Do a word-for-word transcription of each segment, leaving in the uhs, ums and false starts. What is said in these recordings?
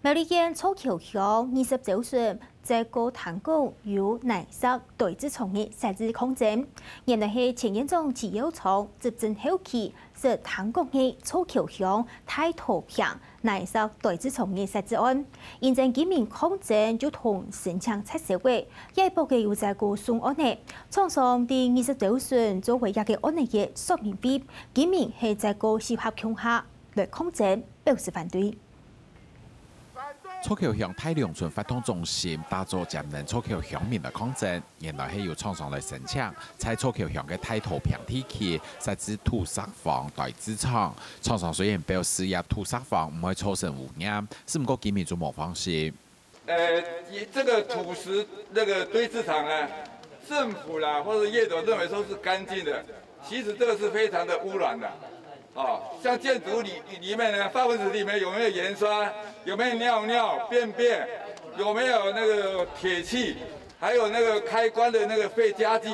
苗栗縣草橋鄉二十週年，再過聽講有泥石堆置場个設置抗爭，原來係前縣長徐耀昌執政後期，識聽講个草橋鄉大肚坪泥石堆置場个設置案。因爭居民抗爭就同申請撤銷个，這駁个有再過送案个。廠商在二十週年做為這个案个說明會，居民係再過集合共下來抗爭，表示反對。 草橋鄉大龍村活動中心打早接等草橋鄉民來抗爭，原來係有廠商來申請，在草橋鄉个大肚坪地區設置土石荒堆置場。廠商雖然表示這土石荒毋會造成污染，係毋過居民就無放心。呃，這個土石那個堆置場呢，政府啦或者業者認為說是乾淨的，其實這個是非常的污染的。哦，像建築裡裡面呢，化糞池裡面有沒有鹽酸？有沒有尿尿、便便？有沒有那個鐵氣？還有那個開關的那個廢家具？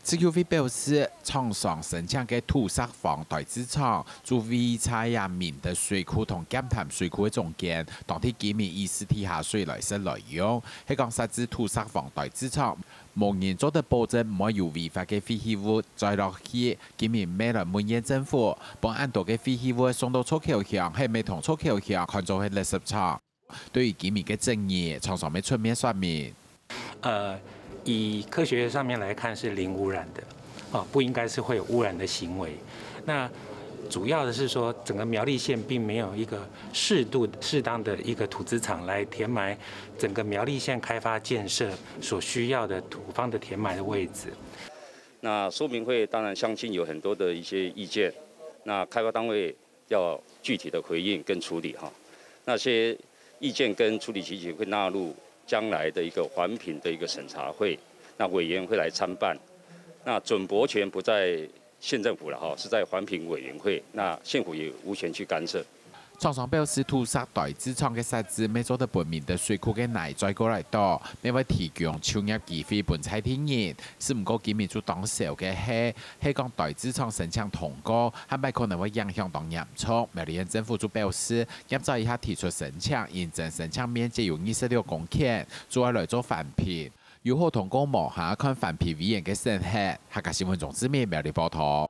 自救會表示，廠商申請个土石荒堆置場，就位在這明德水庫同劍潭水庫个中間，當地居民以私底下水來食來用，係講設置土石荒堆置場，無人做得保證毋會有違法个廢棄物再落去。居民乜來問縣政府，分恁多个廢棄物送到草橋鄉，係毋係同草橋鄉看做係垃圾場？對於居民个爭議，廠商乜出面說明。 呃，以科學上面來看是零污染的，哦，不應該是會有污染的行為。那主要的是說，整個苗栗縣並沒有一個適度、適當的一個土資場來填埋整個苗栗縣開發建設所需要的土方的填埋的位置。那說明會當然相信有很多的一些意見，那開發單位要具體的回應跟處理哈。那些意見跟處理情形會納入将来的一个环评的一个审查会，那委员会来参办。那准驳权不在县政府了哈，是在环评委员会，那县府也无权去干涉。创爽表示，土石堆置场个设置，乜做得分明德水库个泥再过来倒，乜会提供就业机会分在地人。只毋过今日就当少个系，系讲堆置场申请通过，下摆可能会影响到严重。苗栗县政府就表示，今朝一下提出申请，认真申请面积有二十六公顷，就要来做环评。 有好通过无下，看环评委员个审核。客家新闻钟志明苗栗报道。